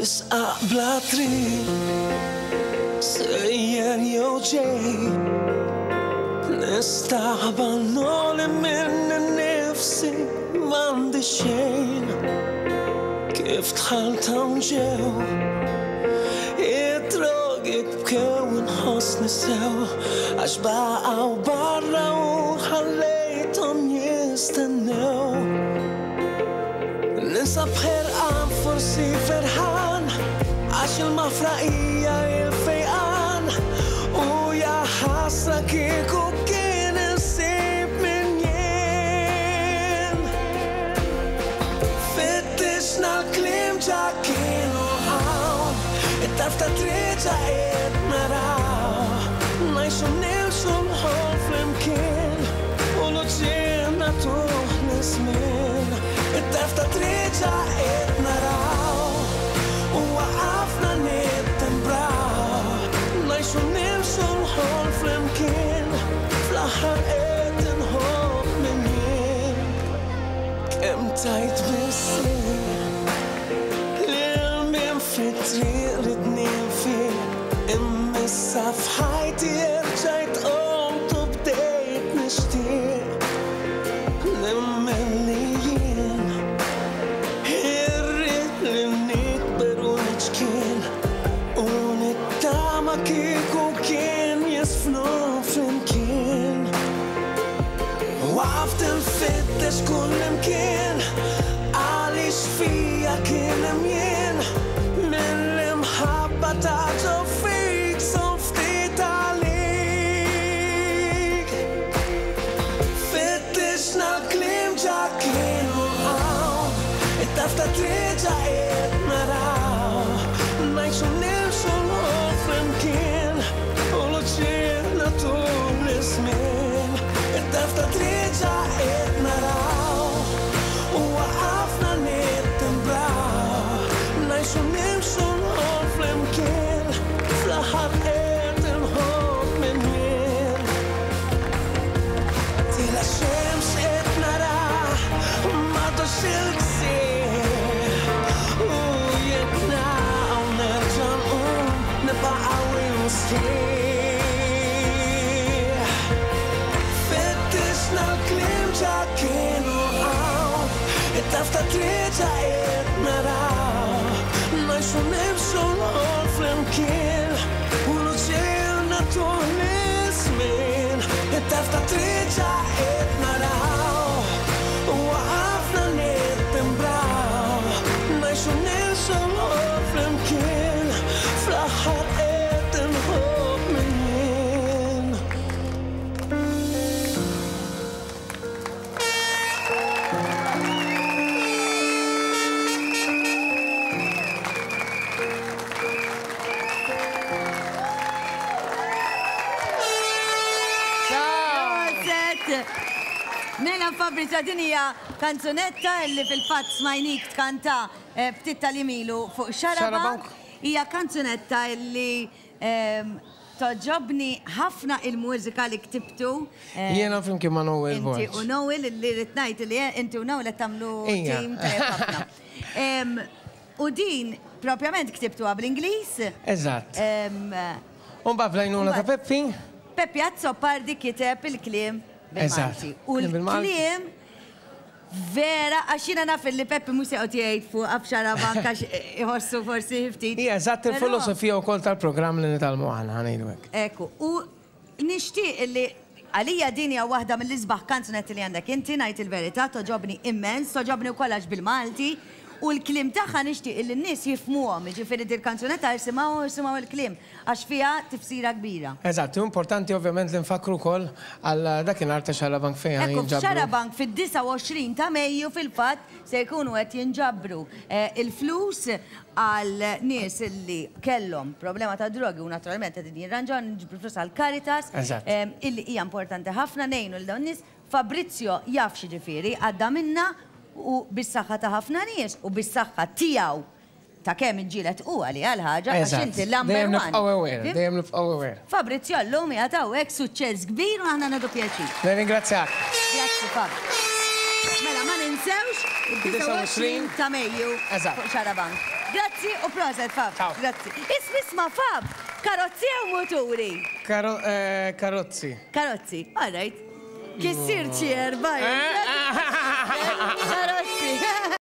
Fisqaq bla triq, sejjer jew ġej, nistaħba noli minn nifsi m'għandi xejn. Kif dħalt hawn ġew, id-drogi bkew inħossni sew, għax baqgħu barra u ħallejthom jistennew. Ninsab ħerqan forsi ferħan għax il-maħfra hija il-fejqan u ja ħasra kieku kien insib min jien. Fittixna l-kliem ġa kienu hawn, it-tarf ta' triq ġa qed naraw. Ngħixu nimxu l-ħolm flimkien u l-uġigħ nagħtuh liż-żmien. It-tarf ta' triq ġa qed naraw u waqafna nittembraw. Ngħixu nimxu l-ħolm flimkien, fl-aħħar qed inħobb min jien. Kemm tajt biss lil min fit-triq ridni nfiq, imma issa f'ħajti erġajt qomt u bdejt nixtieq. Nemmen li jien irrid li nikber u niċkien u nittama kieku kien jiżfnu flimkien. Waqaft infittex kullimkien għaliex fija kien hemm jien mill-imħabba ta' ġo fik son ftit għalik. Fittixna l-kliem ġa kienu hawn, it-tarf ta' triq ġa qed naraw. Ngħixu nimxu l-ħolm flimkien u l-uġigħ nagħtuh liż-żmien. It-tarf ta' triq ġa qed naraw u waqafna nittimbraw. Ngħixu nimxu l-ħolm flimkien, fl-aħħar qed inħobb min jien. Tila xemx qed nara m'għadux il-ksieħ u jekk naqgħu nerġa' nqum nibqa' qawwi u sħiħ. Fittixna l-kliem ġa kienu hawn, it-tarf ta' triq ġa qed naraw. Ngħixu nimxu l-ħolm flimkien u l-uġigħ nagħtuh liż-żmien. It-tarf ta' triq ġa qed naraw u waqafna nittimbraw. Ngħixu nimxu l-ħolm flimkien, fl-aħħar qed inħobb min jien. Proset! Mela Fabrizio din hija kanzunetta li fil-fatt smajnik tkanta eh, ftit tal-jiem ilu fuq Xarabank. Hija kanzunetta li ehm, togħġobni ħafna il-mużika li ktibtu. eh, Jiena flimkien ma' Noel Inti Borg. u Noel li rrid ngħid li inti u Noel qed tagħmlu Ija. team tajjeb ħafna. Em, U din propjament ktibtuha bl-Ingliż. Eżatt. Em, U mbagħad bl-għajnuna ta' Peppi. Peppi Azzopardi kiteb il-kliem Eżatt. bil-Malti. U Kliem bil-Malti. l-kliem vera, għax jiena naf li Peppi mhux se joqgħod jgħid fuq f'Xarabank għax iħossu forsi ftit. Hija eżatt Però- il-filosofija wkoll tal-programm li nitgħallmu aħna ħa ngħidu hekk. Ekku, u nixtieq li għalija din hija waħda mill-isbaħ kanzunetti li għandek inti, ngħid il-verità, togħġobni immens, togħġobni wkoll għax bil-Malti, u l-kliem tagħha nixtieq li n-nies jifhmuhom, jiġifieri dil-kanzunetta isimgħuha u isimgħu l-kliem, għax fiha tifsira kbira. Eżatt, u importanti ovvjament li nfakkru wkoll għal dakinhar ta' Xarabank fejn Ekku, jinġabru. f'Xarabank fid-29 ta' Mejju fil-fatt se jkunu qed jinġabru il-flus għal nies li kellhom problema ta' drogi u naturalment qegħdin jirranġaw, niġbru flus għal Caritas, illi hija importanti ħafna ngħinu lil dawn in-nies. Fabrizio jaf x'jiġifieri, għadda minnha u bis-saħħa ta' ħafna nies u bis-saħħa tiegħu ta' kemm iġġieled hu għaliha l-ħaġa għax inti l-number Dejjem one. nibqgħu aware, dejjem nibqgħu aware. Fabrizio llum qiegħed hawnhekk suċċess kbir u aħna nieħdu pjaċir. Nirringrazzjak. Grazzi Fab. Mela ma ninsewx id-29 ta' Mejju fuq Xarabank. Grazzi u proset, Fab. Ciao. Grazzi. Isma' Fab, karozzi jew muturi? Karozzi. Karozzi, all right. Kissir ċi erbaj. Karozzi.